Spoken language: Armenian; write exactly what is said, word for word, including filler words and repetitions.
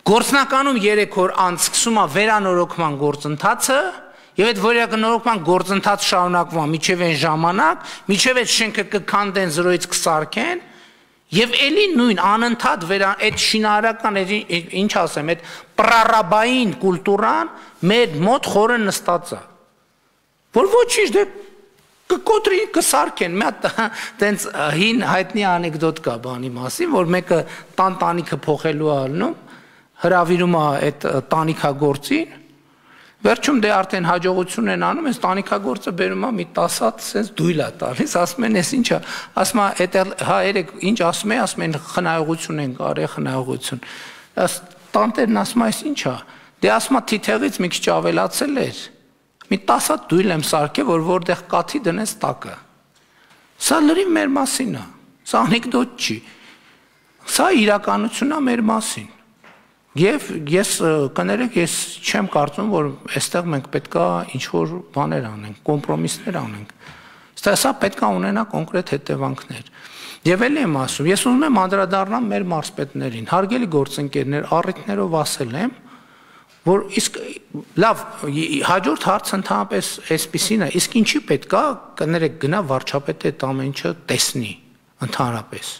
Գործնականում երեք օր անց սկսում է վերանորոգման գործընթացը, եւ այդ վերանորոգման գործընթաց շարունակվում է մինչեւ այն ժամանակ, մինչեւ այդ շենքը կքանդեն զրոյից կսարքեն, եւ էլի նույն անընդհատ վերան այդ շինարարական ինչ ասեմ, այդ պրարաբային կուլտուրան մեր մոտ խորը նստած է, որ ոչինչ դե կկոտրի կսարքեն, մի հատ տենց հին հայտնի անեկդոտ կա բանի մասին, որ մեկը տան տանիքը փոխելու է ալնում, հրավիրում է այդ տանիքագործին, վերջում դե արդեն հաջողություն են անում, այս տանիքագործը բերում է մի տասած sense դույլ է տալիս, ասում են, «Էս ինչ է», ասում է, «Էդ հա երեք ինչ ասում է», ասում են, «Խնայողություն են կարել, խնայողություն»։ Տանտերն ասում է, «Էս ինչ է», դե ասում է, «Թիթեղից մի քիչ ավելացել էր, մի տասած դույլ եմ սարքել, որ որտեղ կաթի դնես տակը»։ Սա լրիվ մեր մասին է, սա անեկդոտ չի, սա իրականությունն է մեր մասին։ Եվ ես կներեք, ես չեմ կարծում, որ այստեղ մենք պետքա ինչ-որ բաներ անենք, կոմպրոմիսներ անենք։ Սա պետքա ունենա կոնկրետ հետևանքներ։ Եվ էլի եմ ասում, ես ուզում եմ անդրադառնամ մեր մարզպետներին, հարգելի գործընկերներ, առիթներով ասել եմ, որ իսկ լավ, հաջորդ հարցը ընդհանրապես այսպիսին է, իսկ ինչի պետքա կներեք գնա վարչապետը այդ ամեն ինչը տեսնի ընդհանրապես։